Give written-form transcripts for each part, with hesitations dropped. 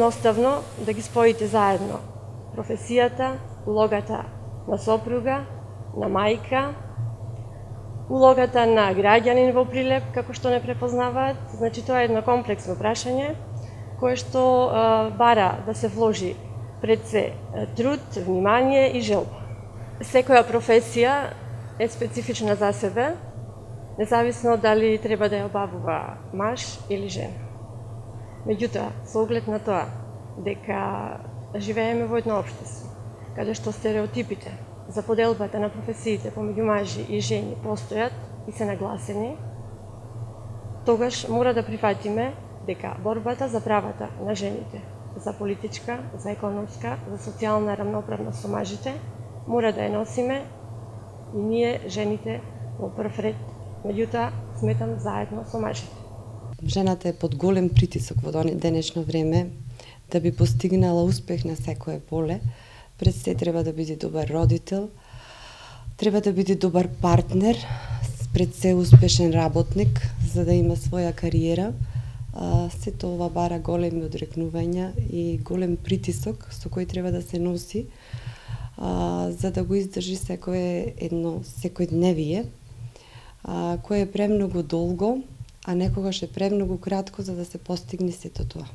едноставно да ги споите заедно професијата, улогата на сопруга, на мајка, улогата на граѓанин во Прилеп, како што не препознаваат. Значи, тоа е едно комплексно прашање, кое што бара да се вложи пред се труд, внимание и желба. Секоја професија е специфична за себе, независно дали треба да ја обавува маж или жена. Меѓутоа, со оглед на тоа дека живееме во едно општество, каде што стереотипите за поделбата на професиите помеѓу мажи и жени постојат и се нагласени, тогаш мора да прифатиме дека борбата за правата на жените, за политичка, за економска, за социјална рамноправност со мажите, мора да ја носиме и ние, жените, во прв ред, меѓутоа, сметам заедно со мажите. Жената е под голем притисок во денешно време да би постигнала успех на секое поле. Пред се треба да биде добар родител, треба да биде добар партнер, пред се успешен работник, за да има своја кариера. Сето ова бара големи одрекнувања и голем притисок со кој треба да се носи, за да го издржи секојдневие, кое е премногу долго, а некогаш е премногу кратко за да се постигне сето тоа.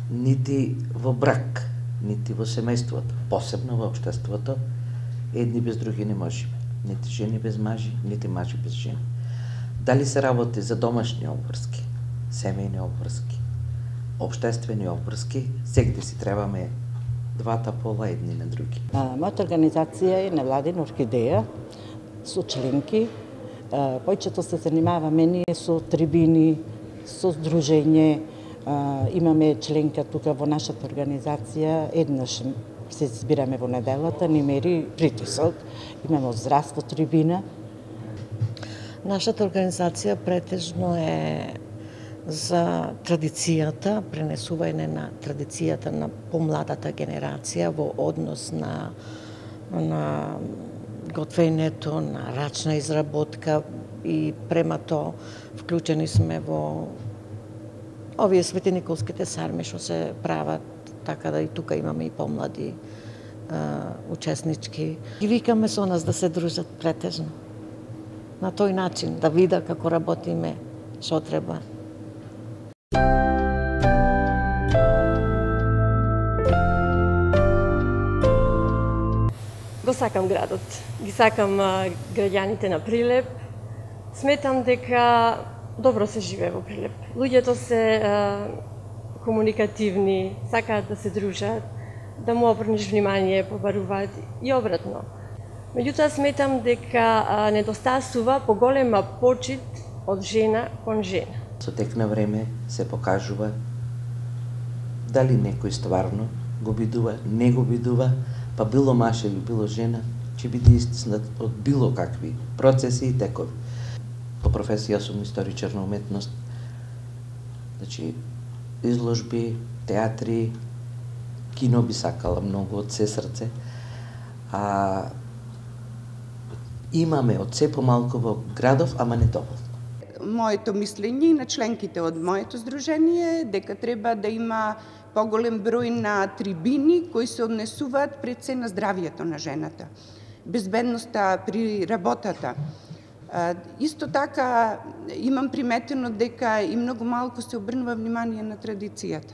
Нити во брак, нити во семејството, посебно во општеството, едни без други не можеме. Нити жени без мажи, нити мажи без жени. Дали се работи за домашни обврски, семејни обврски, општествени обврски, сегде си требаме двата пола едни на други. Мојата организација е невладина орхидеја со членки. Појчето се занимаваме ние со трибини, со здружење. Имаме членка тука во нашата организација, еднаш се збираме во неделата, ни мери притисок. Имаме од здравство трибина. Нашата организација претежно е за традицијата, пренесување на традицијата на помладата генерација во однос на готвењето, на рачна изработка и према тоа вклучени сме во овие светениколските сарми што се прават, така да и тука имаме и помлади учеснички. Ги викаме со нас да се дружат претежно. На тој начин да видат како работиме, што треба. Го сакам градот, ги сакам граѓаните на Прилеп. Сметам дека добро се живее во Прилеп. Луѓето се комуникативни, сакаат да се дружат, да му обрнеш внимание, побаруваат и обратно. Меѓутоа сметам дека недостасува поголема почит од жена кон жена. Со тек на време се покажува дали некој стварно го бидува, не го бидува, па било маж или било жена, ќе биде истиснат од било какви процеси и текови. По професија сум историчар на уметност, значи изложби, театри, кино би сакала многу од се срце, имаме од се помалку во градов, ама не доволно. Моето мислење и на членките од моето здружение е дека треба да има поголем број на трибини кои се однесуваат пред се на здравието на жената, безбедноста при работата. Исто така имам приметено дека и многу малку се обрнува внимание на традицијата.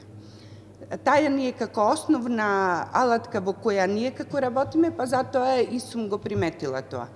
Таја ни е како основна алатка во која ние како работиме, па затоа и сум го приметила тоа.